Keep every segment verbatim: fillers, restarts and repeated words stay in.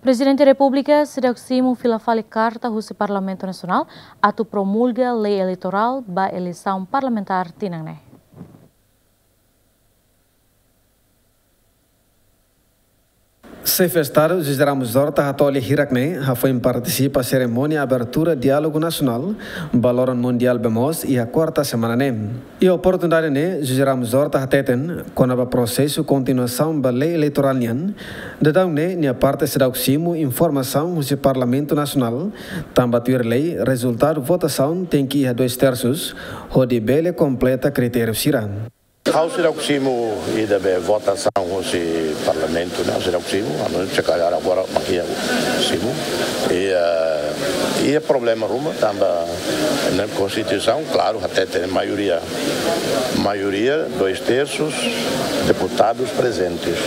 Prezidente Repúblika seidauk simu fila fali karta husi Parlamentu Nasionál atu promulga lei eleitorál ba eleisaun parlamentár tinan ne'e. Xefe Estadu José Ramos Horta hato'o lia hirak-ne'e hafoin partisipa serimónia abertura diálogu nasionál ba loron mundiál bee moos iha kuarta semana ne'e. Iha oportunidade ne'e, José Ramos Horta hateten kona-ba prosesu kontinuasaun ba lei eleitorál nian, daudaun ne'e nia parte seidauk simu informasaun husi Parlamentu Nasionál, tanba tuir lei rezultadu votasaun tenke iha dois terços, hodi bele kompleta kritériu sira. Ha'u seidauk simu ida be votasaun husi Parlamentu, ne'e, ha'u seidauk simu, anu, se kalhar agora mak ha'u simu. I, eh, i problema ruma, tanba iha Konstituisaun, klaru, hateten maioria, maioria, dois terços, deputadus prezentes.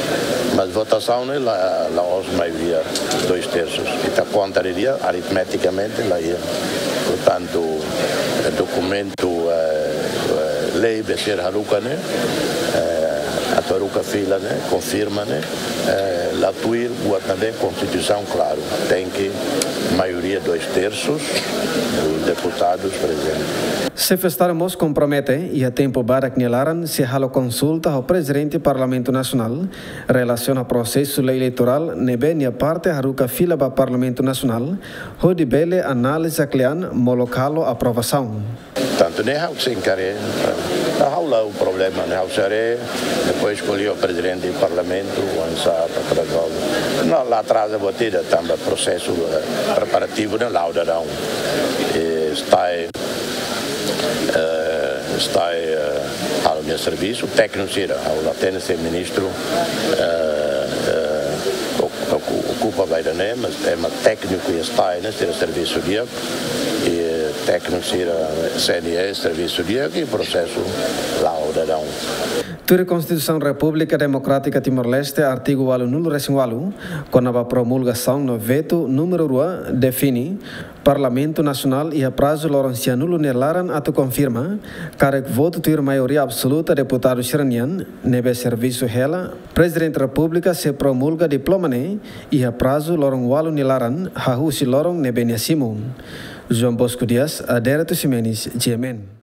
Mas votasaun ne'e la, la'ós maioria, dois terços. Ita konta didi'ak, aritmetikamente, la iha. Portantu, eh, dokumentu, eh, eh, lei be sira haruka ne'e, eh, atu haruka fila ne'e, konfirma ne'e, eh, la tuir buat ne'ebé Konstituisaun klaru. Tenke maioria dois terços dos deputados presentes. Xefe Estadu mós kompromete iha tempu badak nia laran sei halo konsulta ho Prezidente Parlamentu Nasionál relasiona prosesu lei eleitorál ne'ebé nia parte haruka fila ba Parlamentu Nasionál, hodi bele analiza kle'an molok halo aprovasaun. Tantu ne'e ha'u sei enkara, ha'u la iha problema ne'e, ha'u sei haree, depois ko'alia ho Prezidente Parlamentu, oinsá atu rezolve. Não, la atraza buat ida, tanba prosesu, eh, preparativu ne'e la'o daudaun. Eh, STAE, eh, STAE, eh, halo nia servisu, tékniku sira, ha'u la hatene se ministru, eh, eh, ok-, ok-, okupa ba ida-ne'e, mas ema tékniku iha STAE ne'e sira servisu di'ak, i tékniku sira CNE servisu di'ak, i prosesu la'o daudaun. Tuir Konstituisaun Repúblika Demokrátika Timor-Leste, artigu ualunulu-resin-ualu, kona-ba promulgasaun no vetu númeru rua, define, Parlamentu Nasionál iha prazu loron sianulu nia laran atu konfirma, karik votu tuir maioria absoluta deputadu sira-nian, ne'ebé servisu hela, Prezidente Repúblika sei promulga diploma ne'e iha prazu loron ualu nia laran, hahú husi loron ne'ebé nia simu. João Bosco Dias, Adérito Ximenes, G M N.